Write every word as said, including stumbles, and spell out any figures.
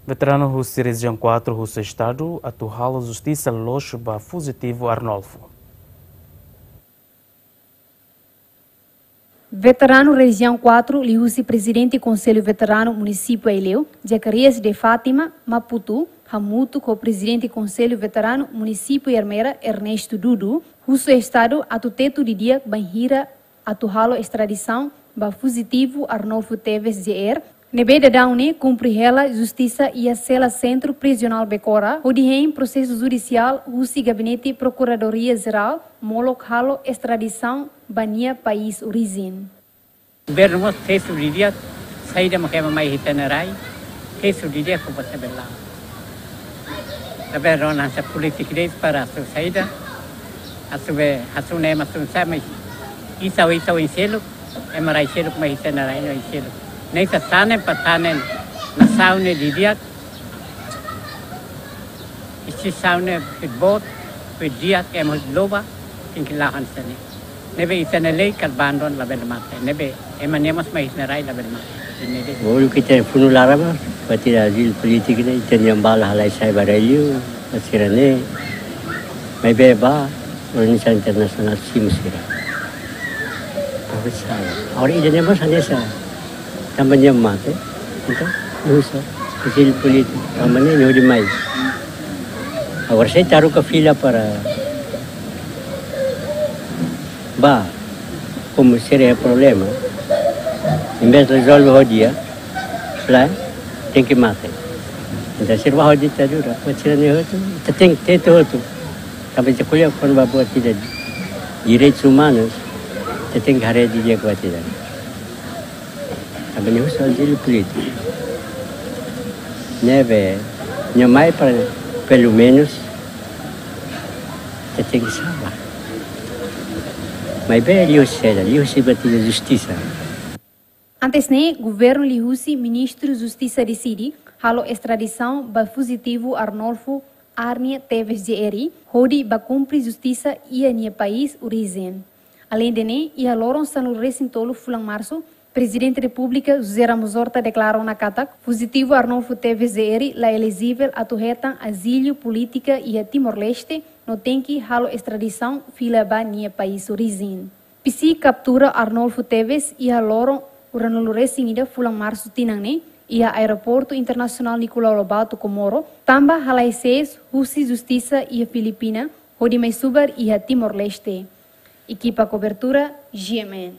Veteranu husi Rejiaun quatro husu Estadu atu halo justisa loos ba fuzitivu Arnolfo. Veteranu Rejiaun quatro liuhusi Prezidente Konsellu Veteranu Munisípiu Aileu, Zacarias de Fátima, Maputo, hamutuk ho Prezidente Konsellu Veteranu Munisípiu Ermera, Ernesto Dudu, husu Estadu atu tetu didi'ak bainhira atu halo estradisaun ba fuzitivu Arnolfo Teves J R, ne'ebé daudaun ne'e kumpre hela justisa iha sela Sentru Prizionál Becora, hodi hein prosesu judisiál husi Gabinete Prokuradoria Jerál, molok halo estradisaun ba nia país orijen. Governu mós fesu didi'ak, saida mak ema mai iha ita-nia rai, fesu didi'ak ho basa bela. Labele rona hanesan polítika de'it para hasoru saida, hasoru be, hasoru ne'e ema hasoru sá, mas isau, isau oin seluk, ema rai seluk mai iha ita-nia rai no oin seluk. Ne'e ita tanen, para tanen nasaun ne'e didi'ak, instituisaun ne'e hotu boot, hotu di'ak, ema hotu loba, tenke la'o hanesan ne'e. Ne'ebé ita-nia lei kala bandu labele mate. Ne'ebé ema ne'e mós mai iha ita-nia rai labele mate. Ne'ebé. Uluk ita funu laran mak, buat ida azil polítika ne'e, ita-nia bala halai sai ba rai liu, ba sira-ne'e. Maibé ba, organizasaun internasionál simu sira. Apa salah? Agora ida-ne'e mós hanesan. Tanba nia mate, entaun, uza, azil polítika, tanba ne'e, nia hodi mai. Agora sei taruka fila para ba, komu sira iha problema, envezde rezolve ho di'ak, lae, tenke mate. Entaun, sira ba ho ditadura, buat sira-ne'e hotu, ita tenke tetu hotu. Tanba ita ko'alia kona-ba buat ida direitus umanus, ita tenke haree didi'ak buat ida. Tanba nia husu azil polítika. Ne'ebé, nia mai para, pelumenus, ita tenke salva. Maibé liuhusi saida, liuhusi buat ida justisa. Antes ne'e, governu liuhusi Ministru Justisa deside halo estradisaun ba fuzitivu Arnolfo Arnie Teves J R, hodi ba kumpre justisa iha nia país orijen. Aleinde ne'e, iha loron sanulu-resin-tolu fulan Marsu, Prezidente Repúblika José Ramos Horta deklara ona katak fuzitivu Arnolfo Teves J R la elejivel atu hetan azilu polítika iha Timor-Leste, no tenke halo estradisaun fila ba nia país orijen. Pisi kaptura Arnolfo Teves iha loron ruanulu-resin-ida fulan Marsu tinan ne'e, iha Aeroportu Internasionál Nicolau Lobato, Komoro, tanba halai sees husi justisa iha Filipina, hodi mai subar iha Timor-Leste. Ekipa kobertura, G M N.